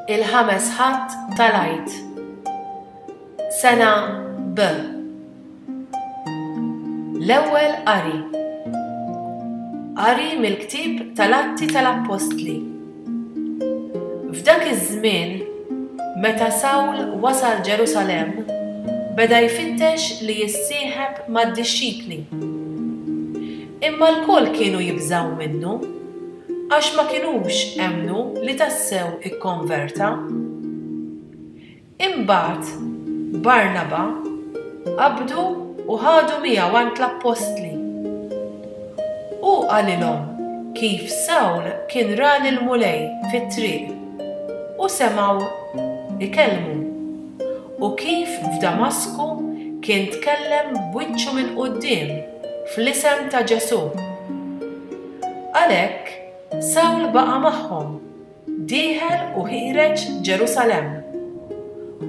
Il-ħames Ħadd tal-Għid. Sena B. L-ewwel qari. Qari mill-ktieb tal-Atti tal-Appostli. F'dak iż-żmien, meta Sawl wasal Ġerusalemm, beda jfittex li jissieħeb mad-dixxipli. Imma lkoll kienu jibżgħu minnu, għax ma kinux emmnu li tassew ikkonverta. Imbagħad Barnaba qabdu u ħadu miegħu għand l-appostli. Hu qalilhom kif Sawl kien ra lill-Mulej fit-triq u semgħu jkellmu, u kif f'Damasku kien tkellem b'wiċċu minn quddiem fl-isem ta' Ġesù. Għalhekk, Sawl baqa' magħhom, dieħel u ħiereġ Ġerusalemm,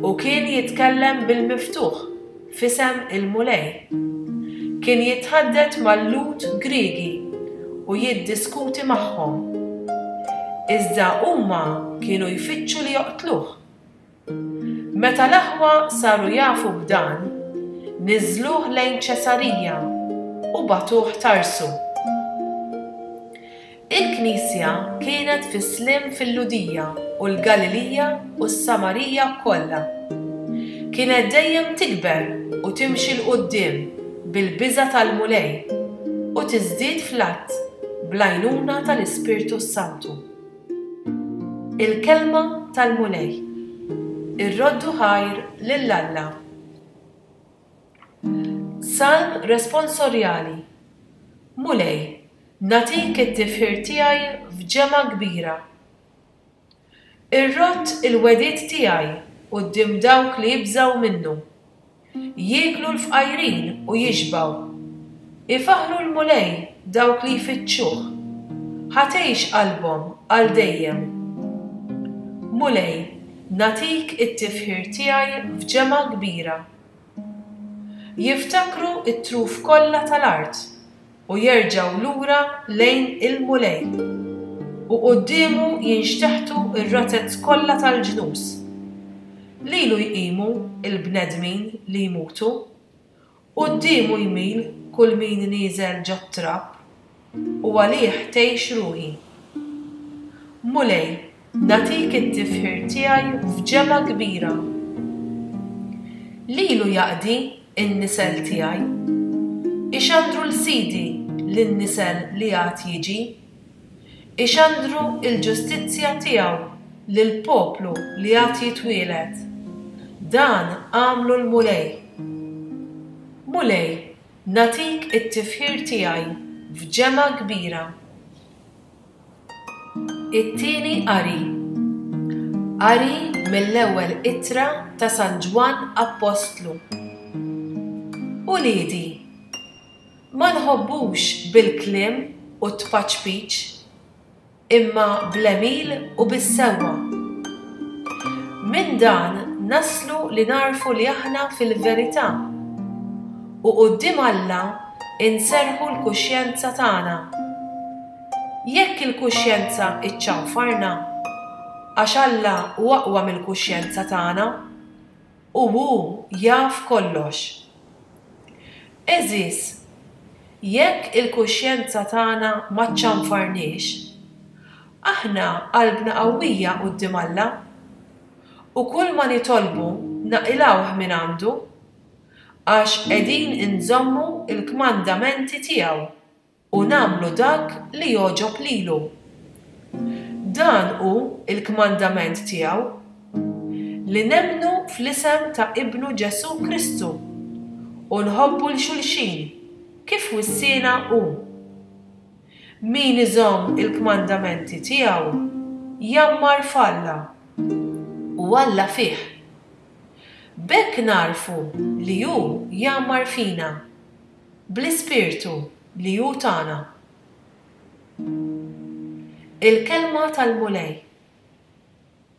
u kien jitkellem bil-miftuħ f'isem il-Mulej. Kien jitħaddet mal-Lhud Griegi u jiddiskuti magħhom. Iżda huma kienu jfittxu li joqtluh. Meta l-aħwa saru jafu b'dan, niżżluh lejn Ċesarija u bagħtuh Tarsu. Il-Knisja kienet fis-sliem fil-Lhudija u l-Galilija u s-Samarija kollha. Kienet dejjem tikber u timxi 'l quddiem bil-biża' tal-Mulej u tiżdied fl-għadd bl-għajnuna tal-Ispirtu s-Santu. Il-Kelma tal-Mulej. Irroddu ħajr lil Alla. Salm Responsorjali Mulej, nagħtik it-tifħir tiegħi f'ġemgħa kbira. Irrodd il-wegħdiet tiegħi quddiem dawk li jibżgħu minnu. Jieklu l-fqajrin u jixbgħu. Ifaħħru l-Mulej dawk li jfittxuh. Ħa tgħix qalbhom għal dejjem. Mulej, nagħtik it-tifħir tiegħi f'ġemgħa kbira. Jiftakru t-truf kollha tal-art u jerġgħu lura lejn il-Mulej, u quddiemu jinxteħtu r-razez kollha tal-ġnus. Lilu jqimu l-bnedmin li jmutu, quddiemu jmil kull min nieżel ġot-trab, u għalih tgħix ruħi. Mulej, nagħtik it-tifħir tiegħi f'ġemgħa kbira. Lilu jaqdi n-nisel tiegħi. Ixandru 'l Sidi lin-nisel li għad jiġi. Ixandru l-ġustizzja tiegħu lill-poplu li għad jitwieled. Dan għamlu l-Mulej. Mulej, nagħtik it-tifħir tiegħi f'ġemgħa kbira. It-tieni qari. Qari mill-ewwel ittra ta' San Ġwann Appostlu. Uliedi, ma nħobbux bil-kliem u t-tpaċpiċ, imma bl-għemil u bis-sewwa. Minn dan naslu li nagħrfu li aħna fil-verità, u quddiem Alla inserrħu l-kuxjenza tagħna. Jekk il-kuxjenza ċċanfarna, għax Alla hu aqwa mill-kuxjenza tagħna, u hu jaf kollox. Għeżież, jekk il-kuxjenza tagħna ma ċċanfarniex, aħna qalbna qawwija quddiem Alla, u kulma nitolbu naqilgħuh mingħandu, għax qegħdin inżommu l-kmandamenti tiegħu. U nagħmlu dak li jogħġob lilu. Dan hu l-kmandament tiegħu, li nemmnu fl-isem ta' Ibnu Ġesù Kristu u nħobbu 'l xulxin kif wissiena hu. Min iżomm il-kmandamenti tiegħu jgħammar f'Alla u Alla fih. B'hekk nagħrfu li hu jgħammar fina. Bl-Ispirtu li hu tana. Il-Kelma tal-Mulej.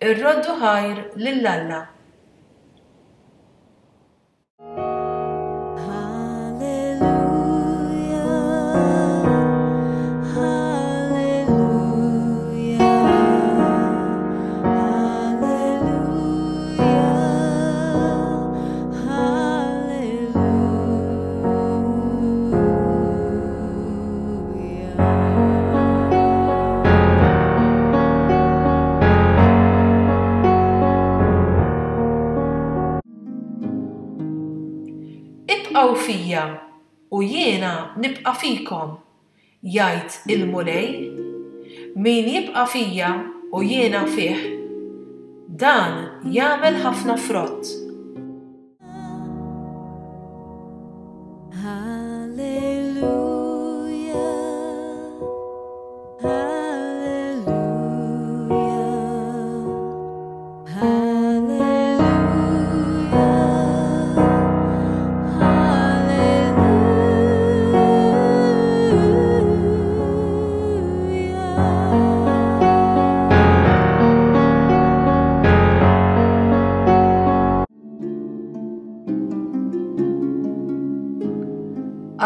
Irroddu ħajr lil Alla. fija u jiena nibqa' fikom, jgħid il-Mulej. Min jibqa' fija u jiena fih, dan jagħmel ħafna frott.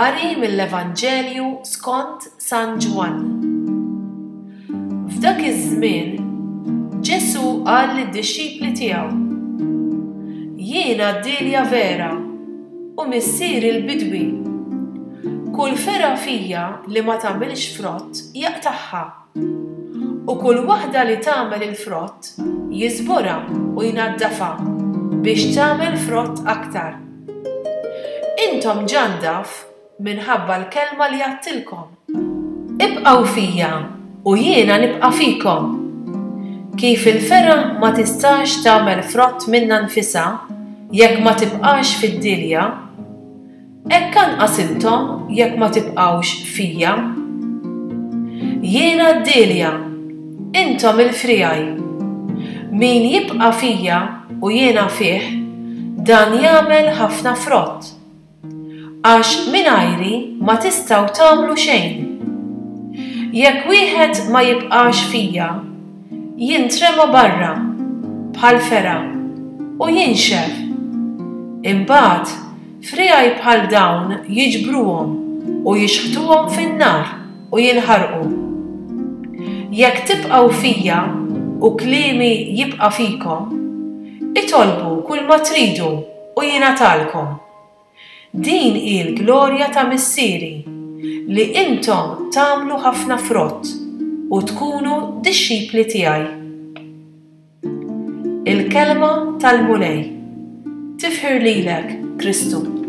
Qari mill-Evanġelju skont San Ġwann. F'dak iż-żmien, Ġesù qal lid-dixxipli tiegħu, Jiena d-dielja vera u Missieri l-bidwi. Kull fergħa fija li ma tagħmilx frott jaqtagħha, u kull waħda li tagħmel il-frott jiżborha u jnaddafha biex tagħmel frott aktar. Intom ġa ndaf minħabba l-kelma li għadtilkom. Ibqgħu fija u jiena nibqa' fikom. Kif il-fergħa ma tistax tagħmel frott minnha nfisha jekk ma tibqax fid-dielja, hekk anqas intom jekk ma tibqgħux fija. Jiena d-dielja, intom il-friegħi. Min jibqa' fija u jiena fih, dan jagħmel ħafna frott. Għax mingħajri ma tistgħu tagħmlu xejn. Jekk wieħed ma jibqax fija, jintrema barra, bħal fergħa, u jinxef. Imbagħad, friegħi bħal dawn jiġbruhom u jixħtuhom fin-nar u jinħarqu. Jekk tibqgħu fija u kliemi jibqa' fikom, itolbu kulma tridu u jingħatalkom. Din hi l-glorja ta' Missieri, li intom tagħmlu ħafna frott u tkunu dixxipli tiegħi. Il-Kelma tal-Mulej. Tifħir lilek, Kristu.